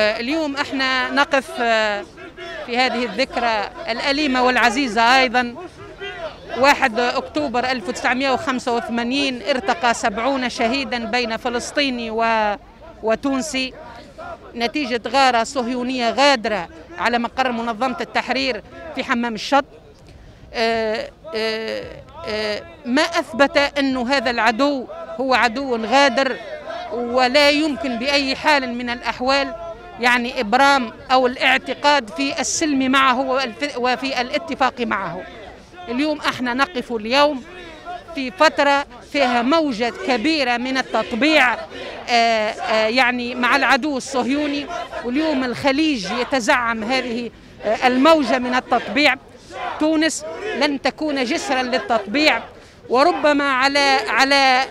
اليوم احنا نقف في هذه الذكرى الأليمة والعزيزة أيضا. 1 أكتوبر 1985 ارتقى 70 شهيدا بين فلسطيني وتونسي نتيجة غارة صهيونية غادرة على مقر منظمة التحرير في حمام الشط. ما أثبت أن هذا العدو هو عدو غادر، ولا يمكن بأي حال من الأحوال يعني إبرام أو الاعتقاد في السلم معه وفي الاتفاق معه. اليوم احنا نقف اليوم في فترة فيها موجة كبيرة من التطبيع يعني مع العدو الصهيوني، واليوم الخليج يتزعم هذه الموجة من التطبيع. تونس لن تكون جسرا للتطبيع، وربما على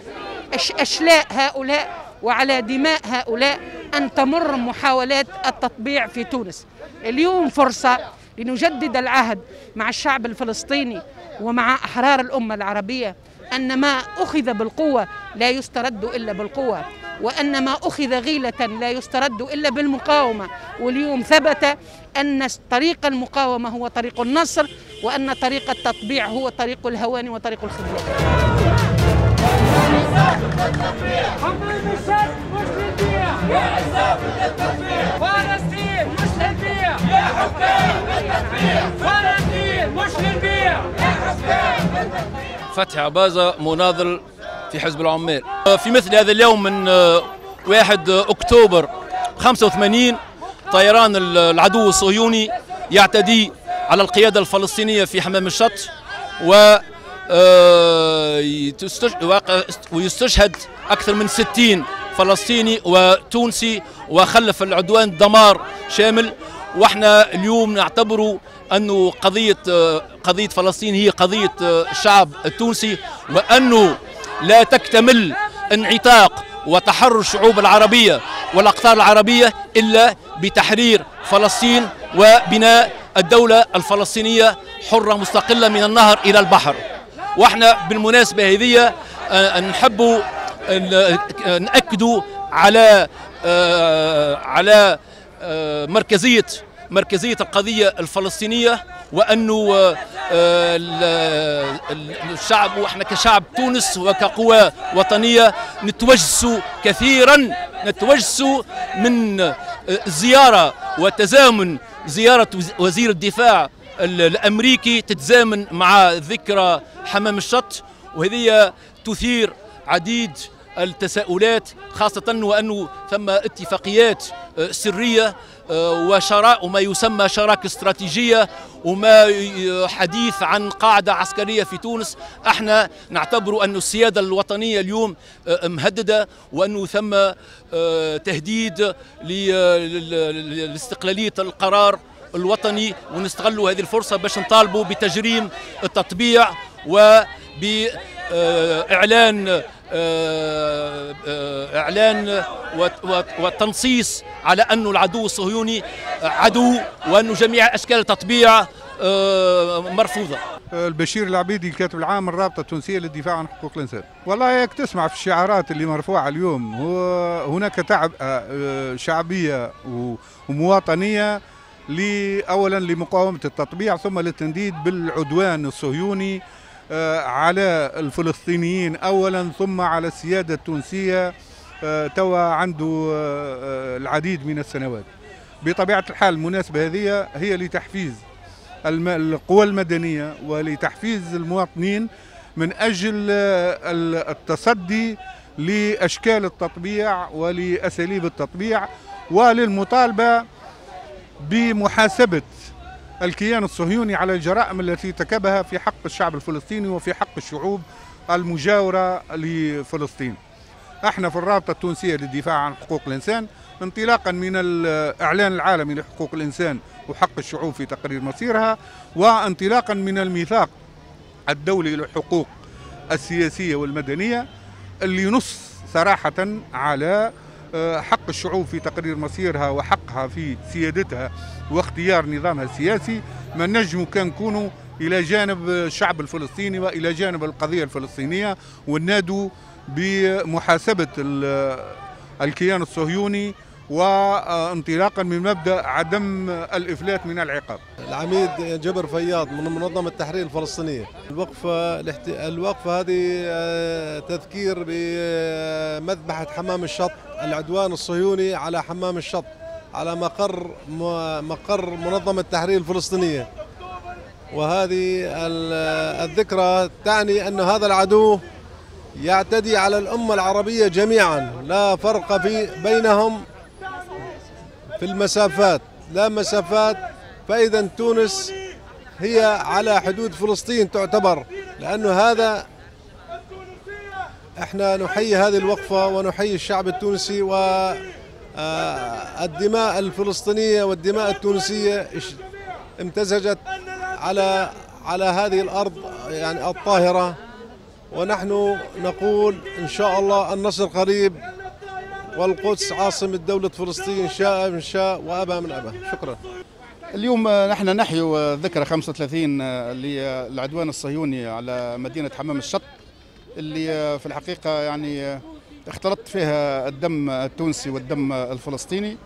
أشلاء هؤلاء وعلى دماء هؤلاء أن تمر محاولات التطبيع في تونس. اليوم فرصة لنجدد العهد مع الشعب الفلسطيني ومع أحرار الأمة العربية أن ما أخذ بالقوة لا يسترد إلا بالقوة، وأن ما أخذ غيلة لا يسترد إلا بالمقاومة. واليوم ثبت أن طريق المقاومة هو طريق النصر، وأن طريق التطبيع هو طريق الهوان وطريق الخذلان. فلسطين مش للبيع يا حكام بالتطبيع، فلسطين مش للبيع يا حكام بالتطبيع. فتحي عبازة، مناضل في حزب العمال. في مثل هذا اليوم من 1 أكتوبر 85 طيران العدو الصهيوني يعتدي على القيادة الفلسطينية في حمام الشط، ويستشهد أكثر من 60 فلسطيني وتونسي، وخلف العدوان دمار شامل. واحنا اليوم نعتبره أنه قضية فلسطين هي قضية الشعب التونسي، وأنه لا تكتمل انعتاق وتحرر الشعوب العربية والأقطار العربية إلا بتحرير فلسطين وبناء الدولة الفلسطينية حرة مستقلة من النهر إلى البحر. واحنا بالمناسبة هذه نحبوا نأكدوا على مركزية القضية الفلسطينية، وأنه الشعب وإحنا كشعب تونس وكقوى وطنية نتوجسوا كثيرا، نتوجسوا من زيارة وتزامن زيارة وزير الدفاع الأمريكي تتزامن مع ذكرى حمام الشط، وهذه تثير عديد التساؤلات، خاصة وأنه ثم اتفاقيات سرية وشراء وما يسمى شراكة استراتيجية وما حديث عن قاعدة عسكرية في تونس. احنا نعتبر أن السيادة الوطنية اليوم مهددة، وأنه ثم تهديد لاستقلالية القرار الوطني، ونستغلوا هذه الفرصة باش نطالبوا بتجريم التطبيع وبإعلان إعلان وتنصيص على أنه العدو الصهيوني عدو، وأنه جميع أشكال التطبيع مرفوضة. البشير العبيدي الكاتب العام الرابطة التونسية للدفاع عن حقوق الإنسان. والله ياك تسمع في الشعارات اللي مرفوعة اليوم، هو هناك تعب شعبية ومواطنية أولا لمقاومة التطبيع، ثم للتنديد بالعدوان الصهيوني على الفلسطينيين أولا، ثم على السيادة التونسية توا عنده العديد من السنوات. بطبيعة الحال المناسبة هذه هي لتحفيز القوى المدنية ولتحفيز المواطنين من أجل التصدي لأشكال التطبيع ولأساليب التطبيع، وللمطالبة بمحاسبة الكيان الصهيوني على الجرائم التي ارتكبها في حق الشعب الفلسطيني وفي حق الشعوب المجاورة لفلسطين. احنا في الرابطة التونسية للدفاع عن حقوق الإنسان، انطلاقا من الإعلان العالمي لحقوق الإنسان وحق الشعوب في تقرير مصيرها، وانطلاقا من الميثاق الدولي للحقوق السياسية والمدنية اللي ينص صراحة على حق الشعوب في تقرير مصيرها وحقها في سيادتها واختيار نظامها السياسي، ما نجموا كان نكونوا إلى جانب الشعب الفلسطيني وإلى جانب القضية الفلسطينية، ونادوا بمحاسبة الكيان الصهيوني وانطلاقا من مبدأ عدم الإفلات من العقاب. العميد جبر فياض من منظمة التحرير الفلسطينية. الوقفة هذه تذكير بمذبحة حمام الشط، العدوان الصهيوني على حمام الشط، على مقر منظمة التحرير الفلسطينية. وهذه الذكرى تعني أن هذا العدو يعتدي على الأمة العربية جميعا، لا فرق بينهم في المسافات، لا مسافات. فإذا تونس هي على حدود فلسطين تعتبر، لأنه هذا احنا نحيي هذه الوقفة ونحيي الشعب التونسي، والدماء الفلسطينية والدماء التونسية امتزجت على هذه الأرض يعني الطاهرة. ونحن نقول إن شاء الله النصر قريب، والقدس عاصمة دولة فلسطين، شاء من شاء وأبى من أبى. شكرا. اليوم نحن نحيي ذكرى 35 للعدوان الصهيوني على مدينة حمام الشط، اللي في الحقيقة يعني اختلط فيها الدم التونسي والدم الفلسطيني.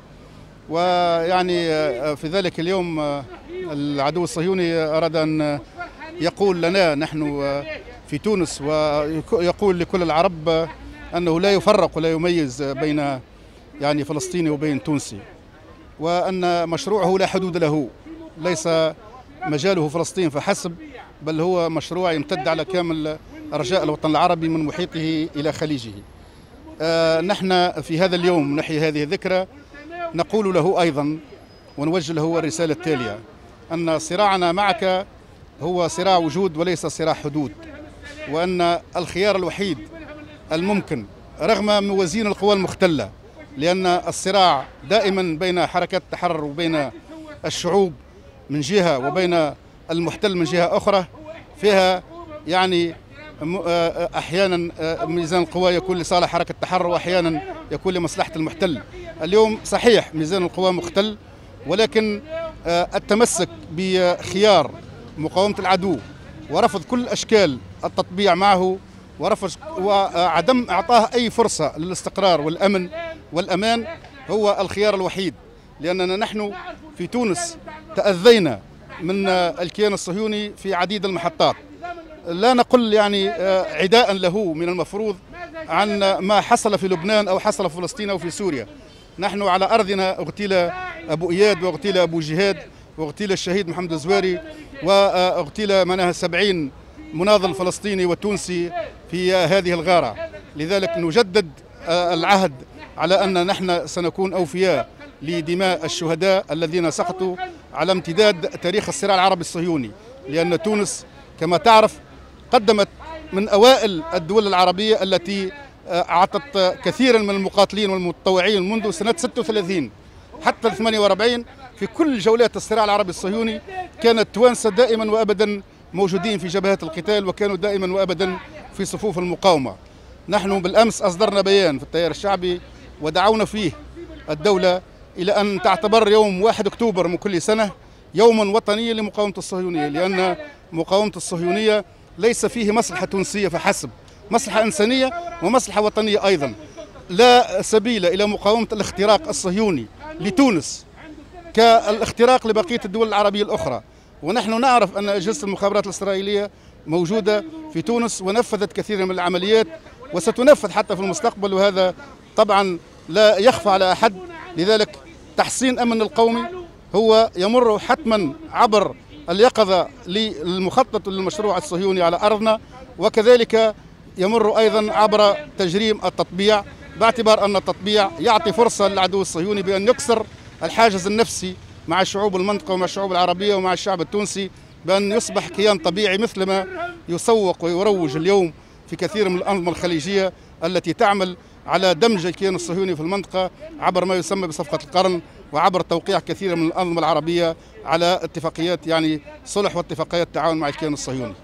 ويعني في ذلك اليوم العدو الصهيوني أراد أن يقول لنا نحن في تونس، ويقول لكل العرب أنه لا يفرق ولا يميز بين يعني فلسطيني وبين تونسي، وأن مشروعه لا حدود له، ليس مجاله فلسطين فحسب، بل هو مشروع يمتد على كامل أرجاء الوطن العربي من محيطه إلى خليجه. نحن في هذا اليوم نحيي هذه الذكرى، نقول له أيضا ونوجه له الرسالة التالية: أن صراعنا معك هو صراع وجود وليس صراع حدود، وأن الخيار الوحيد الممكن رغم موازين القوى المختلة، لأن الصراع دائما بين حركات التحرر وبين الشعوب من جهة وبين المحتل من جهة أخرى، فيها يعني أحيانا ميزان القوى يكون لصالح حركة التحرر وأحيانا يكون لمصلحة المحتل. اليوم صحيح ميزان القوى مختل، ولكن التمسك بخيار مقاومة العدو ورفض كل أشكال التطبيع معه ورفض وعدم إعطاه أي فرصة للاستقرار والأمن والأمان هو الخيار الوحيد، لأننا نحن في تونس تأذينا من الكيان الصهيوني في عديد المحطات. لا نقل يعني عداء له من المفروض عن ما حصل في لبنان أو حصل في فلسطين أو في سوريا. نحن على أرضنا اغتيل أبو إياد واغتيل أبو جهاد واغتيل الشهيد محمد الزواري واغتيل منها 70 مناضل فلسطيني وتونسي في هذه الغارة. لذلك نجدد العهد على أن نحن سنكون أوفياء لدماء الشهداء الذين سقطوا على امتداد تاريخ الصراع العربي الصهيوني، لأن تونس كما تعرف قدمت من أوائل الدول العربية التي أعطت كثيرا من المقاتلين والمتطوعين منذ سنة 36 حتى 48. في كل جولات الصراع العربي الصهيوني كانت التوانسة دائما وأبدا موجودين في جبهات القتال، وكانوا دائما وأبدا في صفوف المقاومة. نحن بالأمس أصدرنا بيان في التيار الشعبي ودعونا فيه الدولة إلى أن تعتبر يوم 1 أكتوبر من كل سنة يوما وطنيا لمقاومة الصهيونية، لأن مقاومة الصهيونية ليس فيه مصلحة تونسية فحسب، مصلحة إنسانية ومصلحة وطنية أيضا. لا سبيل إلى مقاومة الاختراق الصهيوني لتونس كالاختراق لبقية الدول العربية الأخرى. ونحن نعرف أن أجهزة المخابرات الإسرائيلية موجودة في تونس ونفذت كثير من العمليات وستنفذ حتى في المستقبل، وهذا طبعا لا يخفى على أحد. لذلك تحسين أمن القومي هو يمر حتما عبر اليقظة للمخطط للمشروع الصهيوني على أرضنا، وكذلك يمر أيضا عبر تجريم التطبيع، باعتبار أن التطبيع يعطي فرصة للعدو الصهيوني بأن يكسر الحاجز النفسي مع شعوب المنطقة ومع الشعوب العربية ومع الشعب التونسي، بأن يصبح كيان طبيعي مثلما يسوق ويروج اليوم في كثير من الأنظمة الخليجية التي تعمل على دمج الكيان الصهيوني في المنطقة عبر ما يسمى بصفقة القرن، وعبر توقيع كثير من الأنظمة العربية على اتفاقيات يعني صلح واتفاقيات تعاون مع الكيان الصهيوني.